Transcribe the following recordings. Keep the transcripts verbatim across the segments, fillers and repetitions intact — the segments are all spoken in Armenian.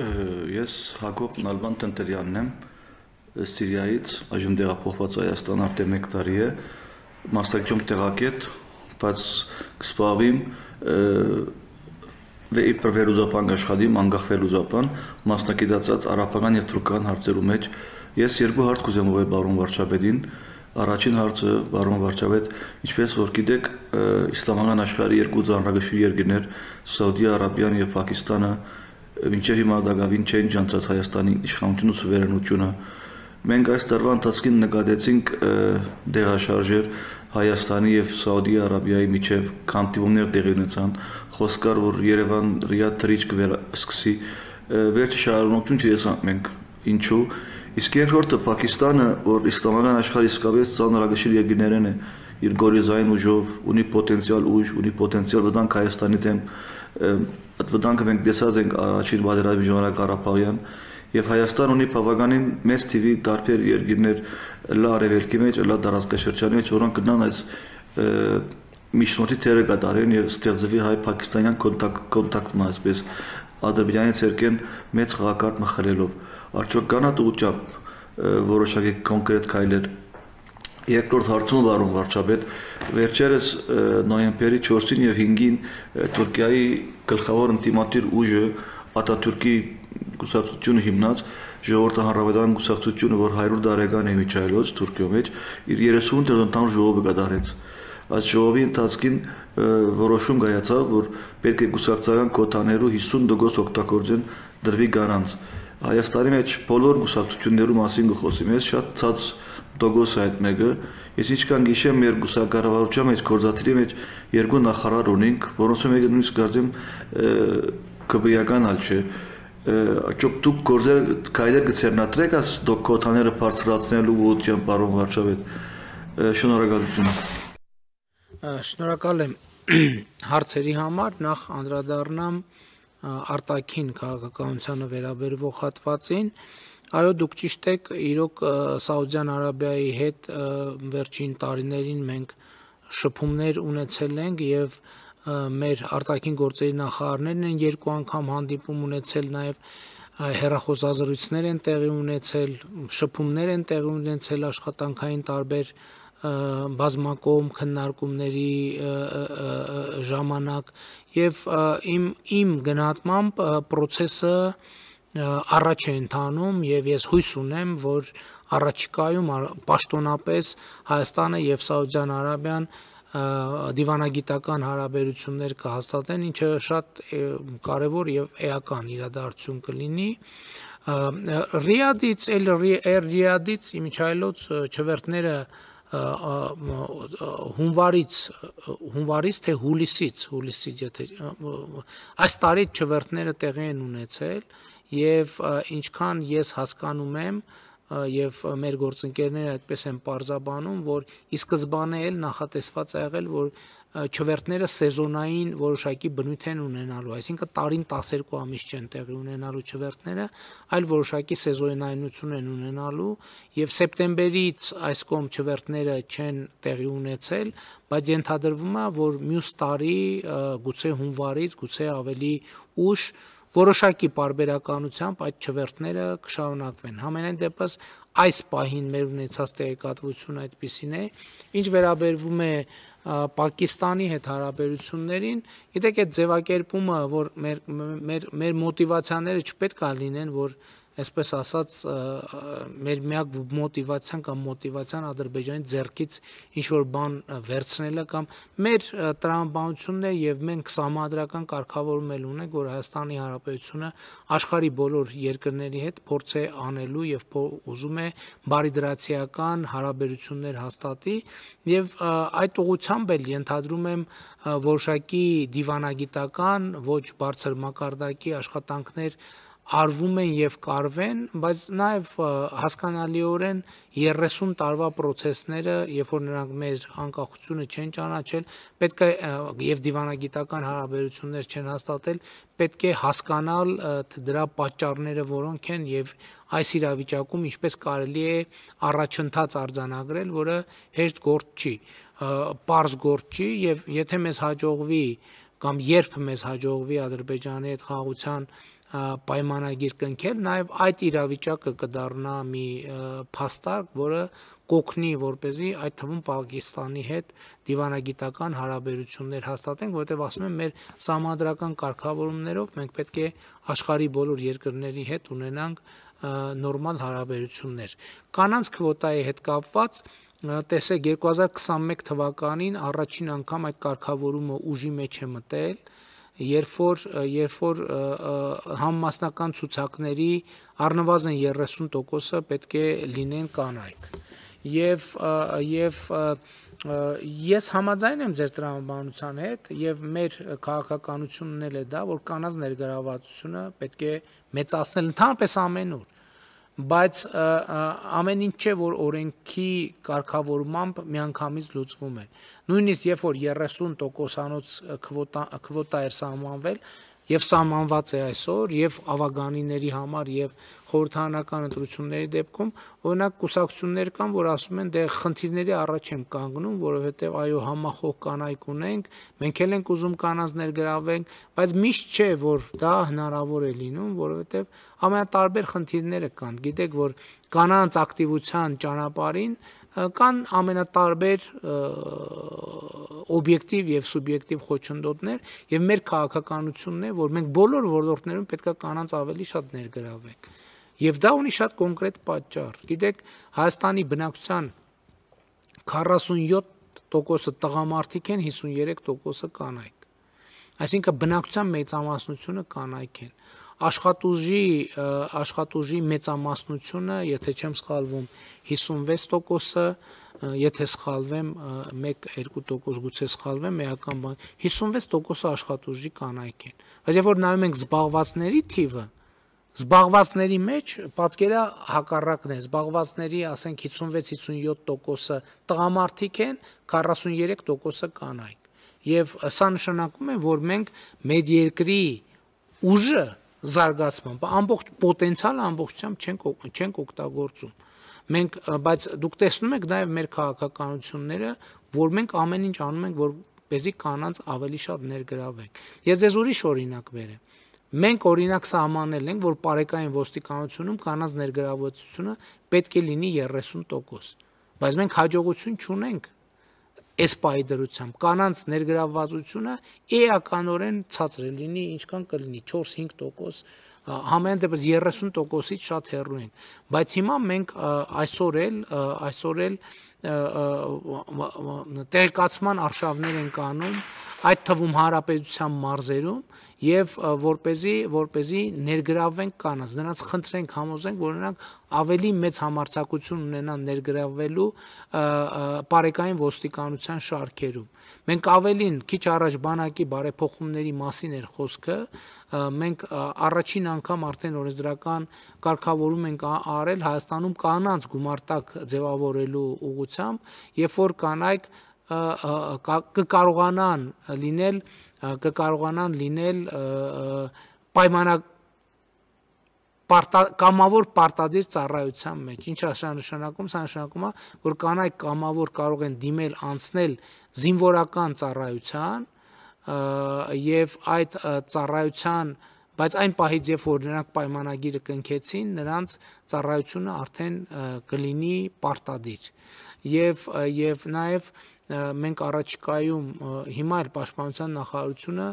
Ես Հակոբ Նալբան Տնտերյանն եմ, Սիրիայից, այժմ տեղափոխված Հայաստան արդեն մեկ տարի է, մասնակցում տեղակետ, բայց կսպասվեմ իբր վերլուծական աշխատիմ, անկախ վերլուծական, մասնակցած արաբական եւ թուրքական հարցերու մեջ ես երկու հարց կուզեմ ուղղել բարոն վարչապետին։ Առաջին հարցը բարոն վարչապետ, ինչպես որ գիտեք, իսլամական աշխարհի երկու ծանրագույն երկրներ, Սաուդիա Արաբիան եւ Պակիստանը, մինչև հիմա դակավին չեն ջանցած Հայաստանի իշխանությունը ու սուվերենությունը։ Մենք այս տարվա ընթացքին նկատեցինք դեղաշարժեր Հայաստանի եւ Սաուդիա Արաբիայի միջև քանդիումներ տեղի ունեցան, խոսք կար, որ Երևան Ռիադ թրիչք վերսկսի, վերջի շարունակություն չտեսանք մենք ինչու։ Իսկ երկրորդը Պակիստանը, որ իսլամական աշխարհի իսկապես ծանրագույն երկրներն է, իր գորիզային ուժով, ունի պոտենցիալ ուժ, ունի պոտենցիալ վտանգ Հայաստանի դեմ, այդ վտանգը մենք տեսած ենք առաջին պատերազմի ժամանակ Ղարաբաղյան, եւ Հայաստան ունի բավականին մեծ թիվի տարբեր երկրներ լա արևելքի մեջ, լա տարածքաշրջանի մեջ, որոնք կնան այս միջնորդի թերը կատարեն եւ ստեղծվի հայ-պակիստանյան կոնտակտը, այսպես Ադրբեջանի ցերկեն մեծ խաղակարգ մխրելով։ Արդյոք կանա ուղղությամբ որոշակի կոնկրետ քայլեր։ Երկրորդ հարցումը բարոն վարչապետ, վերջերս նոյեմբերի չորսին եւ հինգին Թուրքիայի գլխավոր ընդդիմադիր ուժը Աթաթուրքի կուսակցությունը հիմնած ժողովրդի հանրապետական կուսակցությունը, որ հարյուր տարեկան է միջայլոց Թուրքիո մեջ, իր երեսուն տերոնտան ժողովը կատարեց։ Այս ժողովի ընթացքին որոշում կայացավ, որ պետք է կուսակցական կոթաներու հիսուն տոկոս օգտագործեն դրվի գանանց։ Հայաստանի մեջ բոլոր կուսակցություններու մասին կխոսեմ, ես շատ ցած տոկոս է այդ մեկը։ Ես ինչքան գիշեմ մեր կուսակառավարության մեջ գործադիրի մեջ երկու նախարար ունենք, որոնց մեկը նույնիսկ կարծեմ կբիական ալ չէ։ Աճոք դուք գործեր քայլեր կցերնատրեք աս դոկոտաները բարձրացնելու ուղղությամբ բարոն վարչապետ։ Շնորհակալություն։ Շնորհակալ եմ հարցերի համար, նախ անդրադառնամ արտաքին քաղաքականությանը վերաբերվող հատվածին։ Այո, դուք ճիշտ եք, իրոք Սաուդյան Արաբիայի հետ վերջին տարիներին մենք շփումներ ունեցել ենք եւ մեր արտաքին գործերի նախարարներն են երկու անգամ հանդիպում ունեցել, նաեւ հեռախոսազրույցներ են տեղի ունեցել, շփումներ են տեղի ունեցել աշխատանքային տարբեր բազմակողմ քննարկումների ժամանակ եւ իմ իմ գնահատմամբ process-ը առաջ է ընթանում եւ ես հույս ունեմ, որ առաջիկայում պաշտոնապես Հայաստանը եւ Սաուդյան Արաբիան դիվանագիտական հարաբերություններ կհաստատեն, ինչը շատ կարևոր եւ էական իրադարձություն կլինի։ Ռիադից, էլ Ռիադից իմիջայլոց չվերթները հունվարից հունվարից թե հուլիսից հուլիսից եթե այս տարի չվերթները տեղի են ունեցել եւ ինչքան ես հասկանում եմ եւ մեր գործընկերները այդպես են պարզաբանում, որ ի սկզբանե էլ նախատեսված է եղել, որ չվերթները սեզոնային որոշակի բնույթ են ունենալու, այսինքն տարին տասներկու ամիս չեն տեղի ունենալու չվերթները, այլ որոշակի սեզոնայնություն են ունենալու եւ սեպտեմբերից այս կողմ չվերթները չեն տեղի ունեցել, բայց ենթադրվում է, որ մյուս տարի գուցե հունվարից, գուցե ավելի ուշ որոշակի պարբերականությամբ այդ չվերթները կշարունակվեն։ Համենայն դեպս այս պահին մեր ունեցած տեղեկատվությունը այդպիսին է, ինչ վերաբերվում է Պակիստանի հետ հարաբերություններին, գիտեք այդ ձևակերպումը, որ մեր մեր մեր մոտիվացիաները չպետք է լինեն, որ այսպես ասած մեր միակ մոտիվացիան կամ մոտիվացիան Ադրբեջանի ձեռքից ինչ որ բան վերցնելը կամ մեր տրամաբանությունն է եւ մենք սահմանադրական կարգավորում էլ ունենք, որ Հայաստանի Հանրապետությունը աշխարհի բոլոր երկրների հետ փորձ է անելու եւ ուզում է բարիդրացիական հարաբերություններ հաստատի եւ այդ ուղղությամբ էլ ենթադրում եմ որոշակի դիվանագիտական ոչ բարձր մակարդակի աշխատանքներ արվում են եւ կարվեն, բայց նաեւ հասկանալիորեն երեսուն տարվա process-ները, երբ որ նրանք մեր անկախությունը չեն ճանաչել, պետք է եւ դիվանագիտական հարաբերություններ չեն հաստատել, պետք է հասկանալ դրա պատճառները որոնք են եւ այս իրավիճակում ինչպես կարելի է առաջընթաց արձանագրել, որը հեշտ գործ չի, պարզ գործ չի եւ եթե մեզ հաջողվի կամ երբ մեզ հաջողվի Ադրբեջանի հետ խաղաղության պայմանագիր կնքել, նաև այդ իրավիճակը կդառնա մի փաստարկ, որը կօգնի, որպեսզի այդ թվում Պակիստանի հետ դիվանագիտական հարաբերություններ հաստատենք, որովհետև ասում եմ, մեր սահմանադրական կարգավորումներով մենք պետք է աշխարհի բոլոր երկրների հետ ունենանք նորմալ հարաբերություններ։ Կանանց քվոտայի հետ կապված տեսեք երկու հազար քսանմեկ թվականին առաջին անգամ այդ կարգավորումը ուժի մեջ է մտել, երբ որ երբ որ համամասնական ցուցակների առնվազն երեսուն տոկոսը պետք է լինեն կանայք։ Եվ եւ ես համաձայն եմ ձեր տրամաբանության հետ եւ մեր քաղաքականությունն էլ է դա, որ կանանց ներգրավվածությունը պետք է մեծացնել ընդհանրապես ամենուր, բայց ամեն ինչ չէ, որ օրենքի կարգավորմամբ միանգամից լուծվում է։ Նույնիսկ երբ որ երեսուն տոկոսանոց քվոտա քվոտա էր սահմանվել եւ սահմանված է այսօր եւ ավագանիների համար եւ խորհրդարանական ընտրությունների դեպքում, օրինակ կուսակցություններ կան, որ ասում են, դե խնդիրների առաջ են կանգնում, որովհետեւ այո համախոհ կանայք ունենք, մենք էլ ենք ուզում կանանց ներգրավենք, բայց միշտ չէ, որ դա հնարավոր է լինում, որովհետեւ ամենատարբեր խնդիրները կան։ Գիտեք, որ կանանց ակտիվության ճանապարհին կան ամենատարբեր օբյեկտիվ եւ սուբյեկտիվ խոչընդոտներ եւ մեր քաղաքականությունն է, որ մենք բոլոր ոլորտներում պետք է կանանց ավելի շատ ներգրավենք։ Եվ դա ունի շատ կոնկրետ պատճառ։ Գիտեք, Հայաստանի բնակչության քառասունյոթ տոկոսը տղամարդիկ են, հիսունյերեք տոկոսը կանայք։ Այսինքն բնակչության մեծամասնությունը կանայք են։ Աշխատուժի աշխատուժի մեծամասնությունը, եթե չեմ սխալվում, հիսունվեց տոկոսը, եթե սխալվեմ մեկ երկու տոկոս գուցե սխալվեմ, էական բան, հիսունվեց տոկոսը աշխատուժի կանայք են։ Բայց երբ որ նայում ենք զբաղվածների թիվը, զբաղվածների մեջ պատկերա հակառակն է, զբաղվածների, ասենք հիսունվեց հիսունյոթ տոկոսը տղամարդիկ են, քառասունյերեք տոկոսը կանայք։ Եվ սա նշանակում է, որ մենք մեր երկրի ուժը զարգացման, ամբողջ պոտենցիալը ամբողջությամբ չենք չենք օգտագործում։ Մենք, բայց դուք տեսնում եք նաև մեր քաղաքականությունները, որ մենք ամեն ինչ անում ենք, որպեսզի կանանց ավելի շատ ներգրավենք։ Ես ձեզ ուրիշ օրինակ բերեմ։ Մենք օրինակ սահմանել ենք, որ պարեկային ոստիկանությունում կանանց ներգրավվածությունը պետք է լինի երեսուն տոկոս, բայց մենք հաջողություն չունենք այս պահի դրությամբ, կանանց ներգրավվածությունը էականորեն ցածր է լինի, ինչքան կլինի չորս-հինգ տոկոս, համենայն դեպս երեսուն տոկոսից շատ հեռու ենք, բայց հիմա մենք այսօր էլ այսօր էլ տեղեկացման արշավներ ենք անում, այդ թվում հանրապետության մարզերում եւ որպեսզի որպեսզի ներգրավենք կանանց, նրանց խնդրենք, համոզենք, որ նրանք ավելի մեծ համարձակություն ունենան ներգրավվելու պարեկային ոստիկանության շարքերում։ Մենք ավելին քիչ առաջ բանակի բարեփոխումների մասին էր խոսքը, մենք առաջին անգամ արդեն օրենսդրական կարգավորում ենք արել Հայաստանում կանանց գումարտակ ձևավորելու ուղղությամբ, երբ որ կանայք կկարողանան լինել կկարողանան լինել պայմանակ կամավոր պարտադիր ծառայության մեջ։ Ինչ է սա նշանակում, սա նշանակում է, որ կանայք կամավոր կարող են դիմել անցնել զինվորական ծառայության եւ այդ ծառայության, բայց այն պահից, երբ որ նրանք պայմանագիրը կնքեցին, նրանց ծառայությունը արդեն կլինի պարտադիր։ Եվ եւ նաեւ մենք առաջիկայում հիմա էլ պաշտպանության նախարարությունը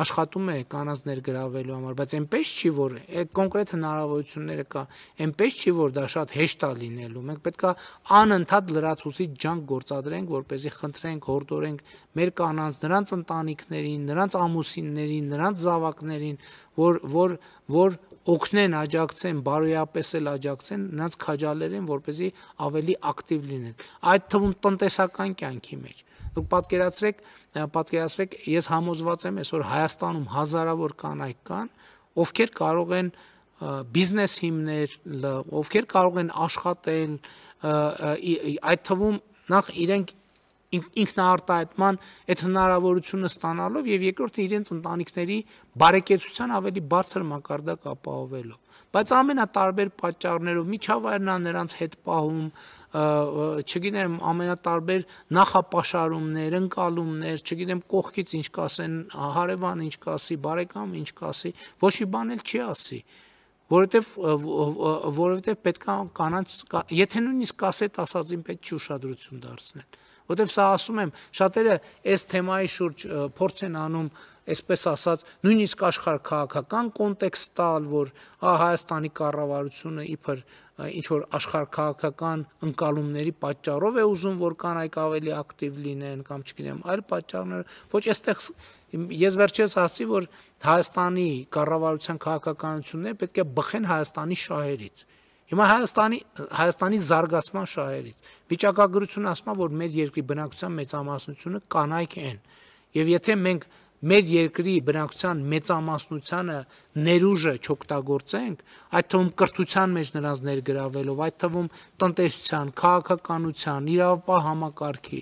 աշխատում է կանանց ներգրավելու համար, բայց այնպես չի, որ կոնկրետ հնարավորությունները կա, այնպես չի, որ դա շատ հեշտ է լինելու։ Մենք պետք է անընդհատ լրացուցիչ ջանք գործադրենք, որպեսզի խնդրենք, հորդորենք մեր կանանց, նրանց ընտանիքներին, նրանց ամուսիններին, նրանց զավակներին, որ որ որ օգնեն, աջակցեն, բարոյապես էլ աջակցեն, նրանց քաջալերեն, որպեսզի ավելի ակտիվ լինեն։ Այդ թվում տնտեսական կյանքի մեջ։ Դուք պատկերացրեք, պատկերացրեք, ես համոզված եմ, այսօր Հայաստանում հազարավոր կանայք կան, ովքեր կարող են բիզնես հիմնել, ովքեր կարող են աշխատել, այդ թվում նախ իրենք ինքնաարտահայտման այդ հնարավորությունը ստանալով եւ երկրորդը իրենց ընտանիքների բարեկեցության ավելի բարձր մակարդակ ապահովելով։ Բայց ամենատարբեր պատճառներով միջավայրն է նրանց հետ պահում, չգիտեմ, ամենատարբեր նախապաշարումներ, ընկալումներ, չգիտեմ, կողքից ինչ կասեն, հարևանը ինչ կասի, բարեկամը ինչ կասի, ոչ մի բան էլ չի ասի, որովհետև որովհետև պետք է կանանց, եթե նույնիսկ կասետ ասածին պետք չի ուշադրություն դարձնել, որովհետև սա ասում եմ, շատերը այս թեմայի շուրջ փորձ են անում, այսպես ասած, նույնիսկ աշխարհ քաղաքական կոնտեքստ տալ, որ Հայաստանի կառավարությունը իբր ինչ որ աշխարհ քաղաքական ընկալումների պատճառով է ուզում, որ կանայք ավելի ակտիվ լինեն կամ չգիտեմ, այլ պատճառներ, ոչ այստեղ ես վերջերս ասացի, որ Հայաստանի կառավարության քաղաքականությունները պետք է բխեն Հայաստանի շահերից։ Հիմա Հայաստանի Հայաստանի զարգացման շահերից վիճակագրությունը ասում է, որ մեր երկրի բնակչության մեծամասնությունը կանայք են, եւ եթե մենք մեր երկրի բնակչության մեծամասնությանը ներուժը չօգտագործենք, այդ թվում կրթության մեջ նրանց ներգրավելով, այդ թվում տնտեսության, քաղաքականության, իրավապահ համակարգի,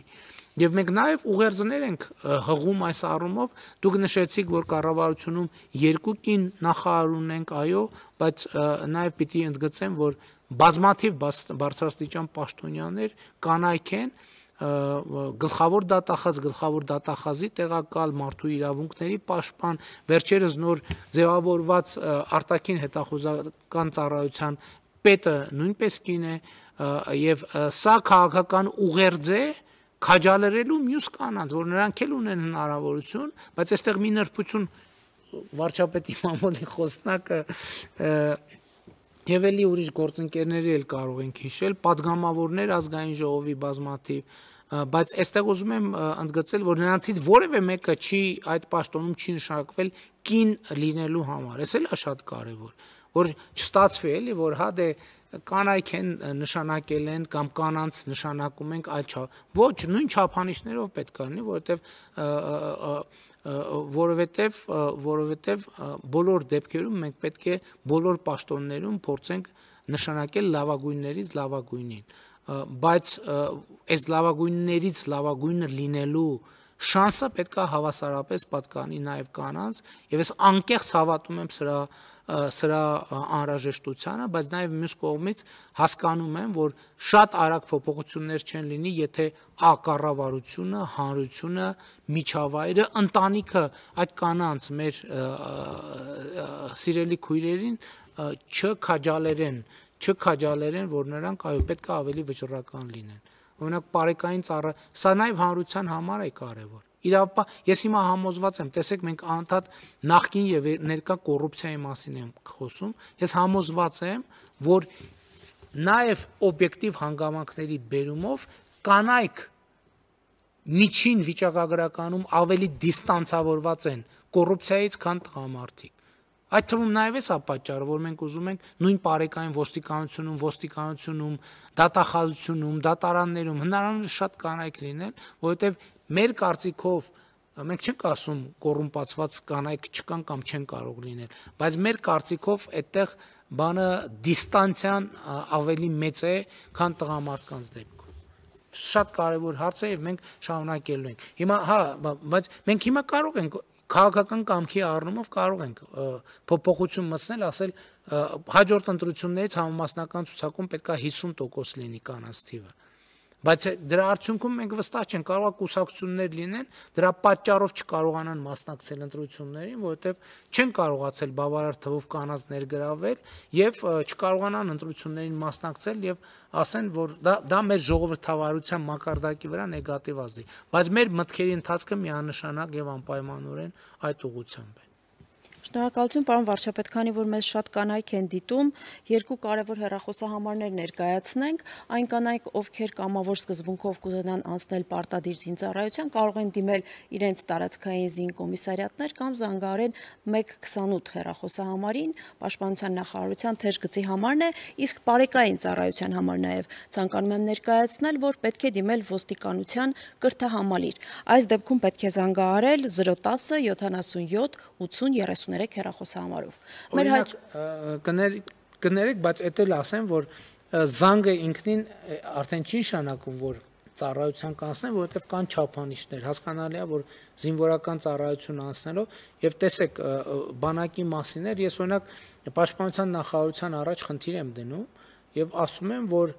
եւ մենք նաեւ ուղերձներ ենք հղում այս առումով, դուք նշեցիք, որ կառավարությունում երկու կին նախարար ունենք, այո, բայց նաեւ պիտի ընդգծեմ, որ բազմաթիվ բարձրաստիճան պաշտոնյաներ կանայք են, գլխավոր դատախազ, գլխավոր դատախազի տեղակալ, մարդու իրավունքների պաշտպան, վերջերս նոր ձևավորված արտաքին հետախուզական ծառայության պետը նույնպես կին է, եւ սա քաղաքական ուղերձ է քաջալերելու մյուս կանանց, որ նրանք էլ ունեն հնարավորություն, բայց այստեղ մի նրբություն վարչապետի մամուլի խոսնակը եւ էլի ուրիշ գործընկերների էլ կարող ենք հիշել, падգամավորներ ազգային ժողովի բազմաթիվ, բայց այստեղ ուզում եմ ընդգծել, որ նրանցից որևէ մեկը չի այդ պաշտոնում չի նշանակվել կին լինելու համար, էս էլ է շատ կարեւոր, որ չստացվի էլի, որ հա դե կանայք են նշանակել են կամ կանանց նշանակում ենք այլ չափ, ոչ, նույն չափանիշներով պետք է լինի, որովհետեւ որովհետեւ որովհետեւ բոլոր դեպքերում մենք պետք է բոլոր պաշտոններում փորձենք նշանակել լավագույններից լավագույնին, բայց այս լավագույններից լավագույնը լինելու շանսը պետք է հավասարապես պատկանի նաև կանանց, եւ ես անկեղծ հավատում եմ սրա սրա անհրաժեշտությանը, բայց նաև մյուս կողմից հասկանում եմ, որ շատ արագ փոփոխություններ չեն լինի, եթե ա կառավարությունը, հանրությունը, միջավայրը, ընտանիքը այդ կանանց մեր սիրելի քույրերին չքաջալերեն, չքաջալերեն, որ նրանք այո պետք է ավելի վճռական լինեն։ Օրինակ բարեկային ծառա, սա նաև հանրության համար է կարևոր։ Իրավապահ, ես հիմա համոզված եմ, տեսեք, մենք անդադ նախկին եւ ներկա կոռուպցիայի մասին ենք խոսում, ես համոզված եմ, որ նաեւ օբյեկտիվ հանգամանքների բերումով կանայք միջին վիճակագրականում ավելի դիստանցավորված են կոռուպցիայից, քան տղամարդիկ։ Այդ թվում նաև է սա պատճառը, որ մենք ուզում ենք նույն բարեկային ոստիկանությունում, ոստիկանությունում, դատախազությունում, դատարաններում հնարավոր շատ կանայք լինեն, որովհետև մեր կարծիքով մենք չենք ասում կոռումպացված կանայք չկան կամ չեն կարող լինել, բայց մեր կարծիքով այդտեղ բանը դիստանցիան ավելի մեծ է, քան տղամարդկանց դեպքում։ Շատ կարևոր հարց է եւ մենք շարունակելու ենք։ Հիմա հա, բայց մենք հիմա կարող ենք քաղաքական կամքի առումով կարող ենք փոփոխություն մտցնել, ասել հաջորդ ընտրություններից համամասնական ցուցակում պետք է հիսուն տոկոս լինի կանանց թիվը, բայց դրա արդյունքում մենք վստահ չենք, կարող է կուսակցություններ լինեն, դրա պատճառով չկարողանան մասնակցել ընտրություններին, որովհետև չեն կարողացել բավարար թվով կանանց ներգրավել եւ չկարողանան ընտրություններին մասնակցել եւ ասեն, որ դա դա մեր ժողովրդավարության մակարդակի վրա նեգատիվ ազդի, բայց մեր մտքերի ընթացքը միանշանակ եւ անպայմանորեն այդ ուղղությամբ է։ Շնորհակալություն, պարոն վարչապետ, քանի որ մեզ շատ կանայք են դիտում, երկու կարևոր հեռախոսահամարներ ներկայացնենք, այն կանայք, ովքեր կամավոր սկզբունքով կուզենան անցնել պարտադիր զինծառայության, կարող են դիմել իրենց տարածքային զինկոմիսարիատներ կամ զանգահարել մեկ քսանութ հեռախոսահամարին, Պաշտպանության նախարարության թեժգծի համարն է, իսկ բարեկային ծառայության համար նաև ցանկանում եմ ներկայացնել, որ պետք է դիմել ոստիկանության կրթահամալիր։ Այս դեպքում պետք է զանգահարել զրո տասը յոթանասունյոթ ութսուն երեսուններեք հեռախոսահամարով։ Օրինակ կներեք, բայց էդ էլ ասեմ, որ զանգը ինքնին արդեն չի նշանակում, որ ծառայության կանցնեն, որովհետև կան չափանիշներ։ Հասկանալի է, որ զինվորական ծառայություն անցնելով եւ տեսեք բանակի մասին էր, ես օրինակ պաշտպանության նախարարության առաջ խնդիր եմ դնում եւ ասում եմ, որ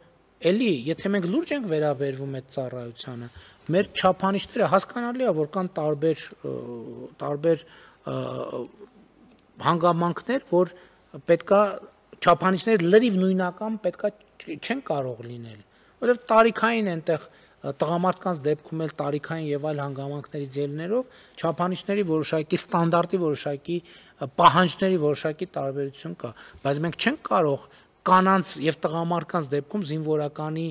էլի, եթե մենք լուրջ ենք վերաբերվում այդ ծառայությանը, մեր չափանիշները հասկանալի է, որ կան տարբեր տարբեր հանգամանքներ, որ պետքա չափանիշները լրիվ նույնական պետքա չեն կարող լինել, որովհետև տարիքային այնտեղ տղամարդկանց դեպքում էլ տարիքային եւ այլ հանգամանքներից ելնելով չափանիշների որոշակի ստանդարտի որոշակի պահանջների որոշակի տարբերություն կա, բայց մենք չենք կարող կանանց եւ տղամարդկանց դեպքում զինվորականի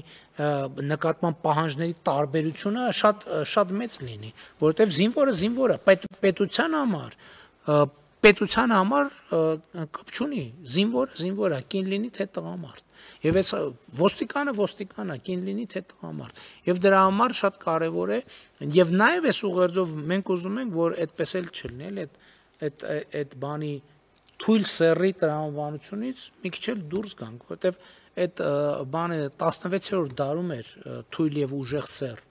նկատմամբ պահանջների տարբերությունը շատ շատ մեծ լինի, որովհետեւ զինվորը զինվոր է, պետ, պետության համար պետության համար կապ չունի, զինվորը զինվոր է, կին լինի թե տղամարդ, եւ այս ոստիկանը ոստիկան է, կին լինի թե տղամարդ, եւ դրա համար շատ կարեւոր է, եւ նաեւ այս ուղերձով մենք ուզում ենք, որ այդպես էլ չլինի, էլ այդ այդ այդ բանի թույլ սեռի տրամաբանությունից մի քիչ էլ դուրս գանք, որովհետև այդ բանը տասնվեցերորդ դարում էր թույլ եւ ուժեղ սեռ։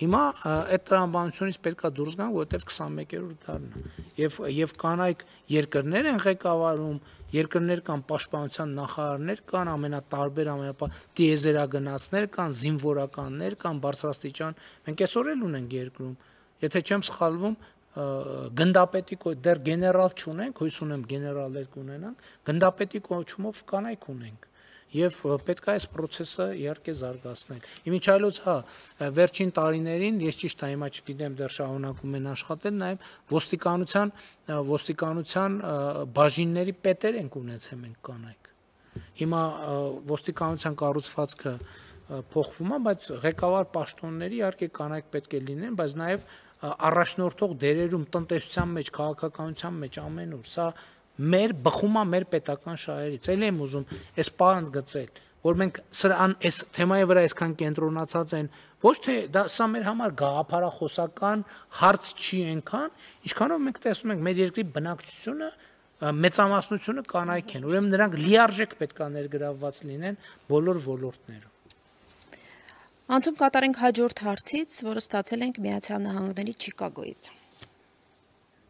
Հիմա այդ տրամաբանությունից պետքա դուրս գանք, որովհետև քսանմեկերորդ դարն է։ Եվ եւ կանայք երկրներ են ղեկավարում, երկրներ կան պաշտպանության նախարարներ կան, ամենատարբեր ամենապա տիեզերագնացներ կան, զինվորականներ կան, բարձրաստիճան։ Մենք այսօր էլ ունենք երկրում։ Եթե չեմ սխալվում, գնդապետի դեռ գեներալ չունենք, հույս ունեմ գեներալներ կունենանք, գնդապետի կոչումով կանայք ունենք եւ պետք է այս process-ը իհարկե զարգացնել։ Իմիջայլոց հա վերջին տարիներին ես ճիշտ է հիմա չգիտեմ դեռ շարունակում են աշխատել, նաեւ ոստիկանության ոստիկանության բաժինների պետեր ենք ունեցել մենք կանայք։ Հիմա ոստիկանության կառուցվածքը փոխվում է, բայց ղեկավար պաշտոնների իհարկե կանայք պետք է լինեն, բայց նաեւ առաջնորդող դերերում տնտեսության մեջ, քաղաքականության մեջ ամենուր, սա մեր բխում է մեր պետական շահերից։ Էլ եմ ուզում այս պահանջ գծել, որ մենք սրան այս թեմայի վրա այսքան կենտրոնացած են, ոչ թե դա սա մեր համար գաղափարախոսական հարց չի այնքան, ինչքանով մենք տեսնում ենք մեր երկրի բնակչությունը մեծամասնությունը կանայք են, ուրեմն նրանք լիարժեք պետք է ներգրավված լինեն բոլոր ոլորտներում։ Անցում կատարենք հաջորդ հարցից, որը ստացել ենք Միացյալ Նահանգների Չիկագոյից։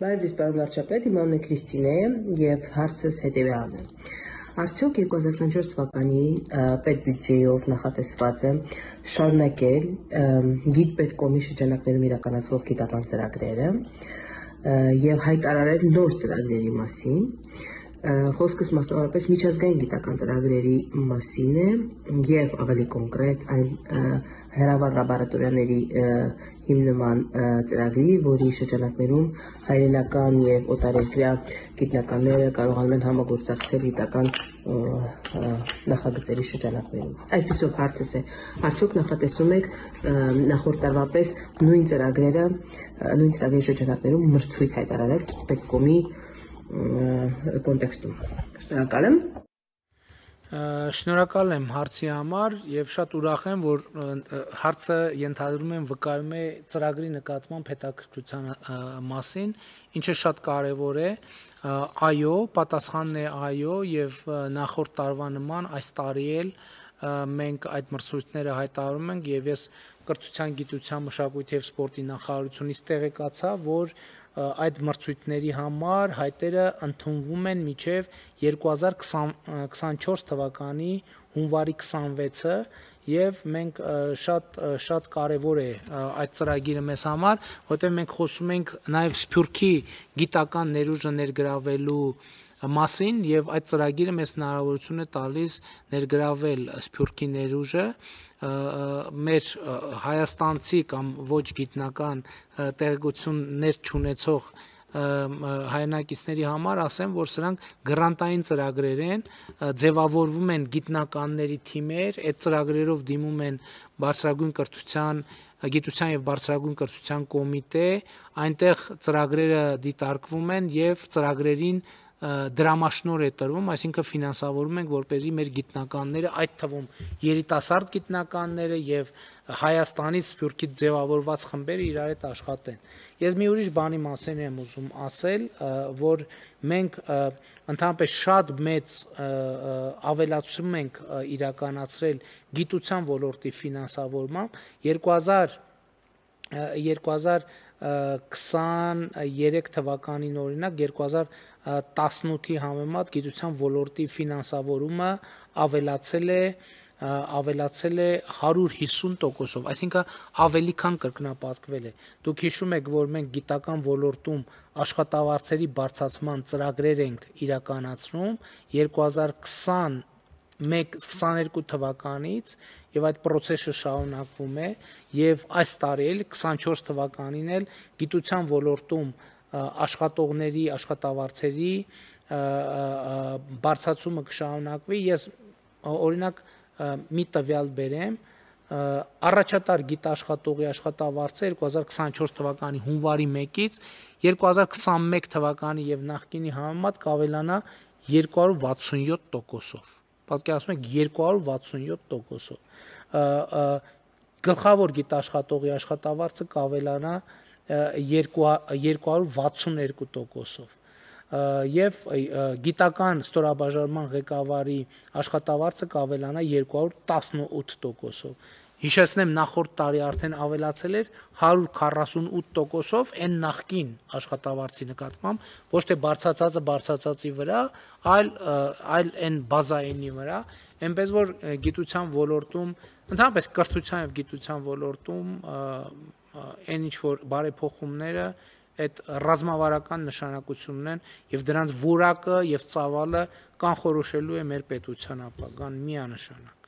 Բարև ձեզ, պարոն վարչապետ, իմ անունը Քրիստինե է եւ հարցս հետեւյալն է։ Արդյոք երկու հազար տասնչորս թվականի պետբյուջեով նախատեսված է շարունակել գիտպետկոմի շրջանակներում իրականացվող գիտական ծրագրերը եւ հայտարարել նոր ծրագրերի մասին։ Խոսքս մասնավորապես միջազգային գիտական ծրագրերի մասին է եւ ավելի կոնկրետ այն հեռավար լաբորատորիաների հիմնման ծրագրի, որի շրջանակներում հայրենական եւ օտարերկրյա գիտնականները կարողանում են համագործակցել գիտական նախագծերի շրջանակներում։ Այսպիսով հարցս է, արդյոք նախատեսում եք նախորդ տարվա պես նույն ծրագրերը, նույն ծրագրերի շրջանակներում մրցույթ հայտարարել գիտպետկոմի կոնտեքստում։ Շնորհակալ եմ։ Շնորհակալ եմ հարցի համար եւ շատ ուրախ եմ, որ հարցը ենթադրում եմ վկայում է ծրագրի նկատմամբ հետաքրքրության մասին, ինչը շատ կարեւոր է։ Այո, պատասխանն է այո եւ նախորդ տարվա նման այս տարի էլ մենք այդ մրցույթները հայտարարում ենք եւ ես կրթության, գիտության, մշակույթի եւ սպորտի նախարարությունից տեղեկացա, որ այդ մրցույթների համար հայտերը ընդունվում են մինչև երկու հազար քսանչորս թվականի հունվարի քսանվեցը եւ մենք շատ շատ կարեւոր է այդ ծրագիրը մեզ համար, որտեղ մենք խոսում ենք նաեւ Սփյուռքի գիտական ներուժը ներգրավելու մասին եւ այդ ծրագիրը մեզ հնարավորություն է տալիս ներգրավել Սփյուռքի ներուժը մեր հայաստանցի կամ ոչ գիտնական տեղեկություններ չունեցող հայրենակիցների համար ասեմ, որ սրանք գրանտային ծրագրեր են, ձևավորվում են գիտնականների թիմեր, այդ ծրագրերով դիմում են բարձրագույն կրթության, գիտության եւ բարձրագույն կրթության կոմիտե, այնտեղ ծրագրերը դիտարկվում են եւ ծրագրերին դրամաշնոր է տրվում, այսինքն ֆինանսավորում ենք, որպեսզի մեր գիտնականները, այդ թվում երիտասարդ գիտնականները եւ Հայաստանից Սփյուռքից ձևավորված խմբերը իրար հետ աշխատեն։ Ես մի ուրիշ բանի մասին եմ ուզում ասել, որ մենք ընդհանրապես շատ մեծ ավելացում ենք իրականացրել գիտության ոլորտի ֆինանսավորմամբ երկու հազար քսաներեք թվականին օրինակ երկու հազար տասնութի համեմատ գիտության ոլորտի ֆինանսավորումը ավելացել է ավելացել է հարյուր հիսուն տոկոսով, այսինքն ավելի քան կրկնապատկվել է։ Դուք հիշում եք, որ մենք գիտական ոլորտում աշխատավարձերի բարձրացման ծրագրեր ենք իրականացնում երկու հազար քսաներեք քսաներկու թվականից եւ այդ process-ը շարունակվում է եւ այս տարի էլ քսանչորս թվականին էլ գիտության ոլորտում աշխատողների աշխատավարձերի բարձրացումը կշարունակվի։ Ես օրինակ մի տվյալ բերեմ, առաջատար գիտաշխատողի աշխատավարձը երկու հազար քսանչորս թվականի հունվարի մեկից երկու հազար քսանմեկ թվականի եւ նախկինի համեմատ կավելանա երկու հարյուր վաթսունյոթ տոկոսով։ Պատկերացնում եք երկու հարյուր վաթսունյոթ տոկոսով։ Գլխավոր գիտաշխատողի աշխատավարձը կավելանա երկու հարյուր վաթսուներկու տոկոսով եւ գիտական ստորաբաժանման ղեկավարի աշխատավարձը կավելանա երկու հարյուր տասնութ տոկոսով։ Հիշեցնեմ, նախորդ տարի արդեն ավելացել էր հարյուր քառասունութ տոկոսով այն նախկին աշխատավարձի նկատմամբ, ոչ թե բարձրացածը բարձրացածի վրա, այլ այլ այն բազայինի վրա, այնպես որ գիտության ոլորտում, ընդհանրապես կրթության եւ գիտության ոլորտում այն ինչ որ բարեփոխումները այդ ռազմավարական նշանակություն ունեն եւ դրանց որակը եւ ծավալը կանխորոշելու է մեր պետության ապագան միանշանակ։